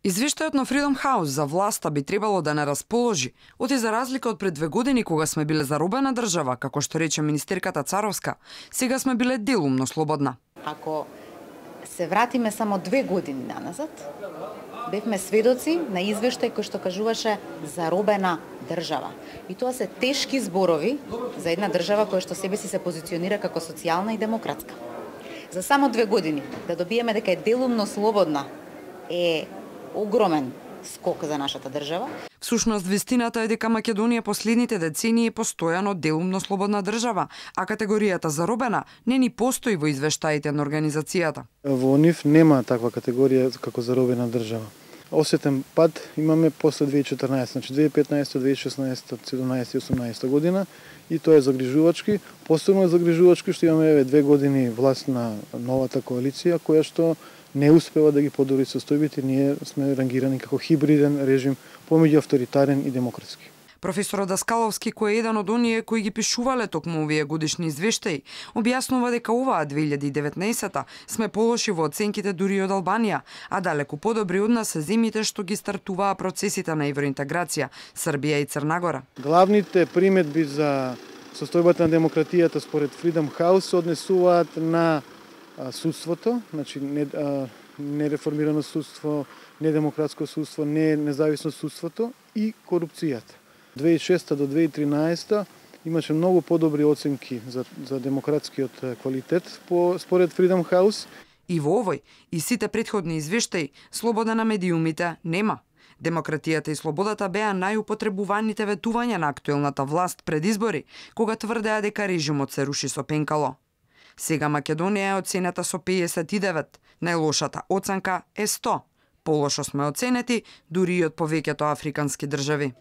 Извештајот на Freedom House за власта би требало да не расположи, оти за разлика од пред 2 години кога сме биле заробена држава, како што рече министерката Царовска, сега сме биле делумно слободна. Ако се вратиме само 2 години наназад, бевме сведоци на извештај кој што кажуваше заробена држава. И тоа се тешки зборови за една држава која што себе си се позиционира како социјална и демократска. За само 2 години да добиеме дека е делумно слободна е огромен скок за нашата држава. Всушност, вистината е дека Македонија последните децении е постојано делумно слободна држава, а категоријата заробена не ни постои во извештаите на организацијата. Во нив нема таква категорија како заробена држава. Осетен пад имаме после 2014, значи 2015, 2016, 2017 и 2018 година и тоа е загрижувачки. Посебно е загрижувачки што имаме 2 години власт на новата коалиција која што не успева да ги подобри состојбите. Ние сме рангирани како хибриден режим помеѓу авторитарен и демократски. Професорот Даскаловски, кој е еден од оние кои ги пишувале токму овие годишни извештаи, објаснува дека оваа 2019 сме полоши во оценките дури од Албанија, а далеку подобри од нас се земјите што ги стартуваа процесите на евроинтеграција, Србија и Црна Гора. Главните приметби за состојбата на демократијата според Freedom House се однесуваат на судството, значи нереформирано судство, недемократско судство, независно судството и корупцијата. 2006 до 2013 имаше многу подобри оценки за демократскиот квалитет според Freedom House. И во овој и сите претходни извештаи, слобода на медиумите нема. Демократијата и слободата беа најупотребуваните ветувања на актуелната власт пред избори, кога тврдеа дека режимот се руши со пенкало. Сега Македонија е оценета со 59, најлошата оценка е 100. Полошо сме оценети дури и од повеќето африкански држави.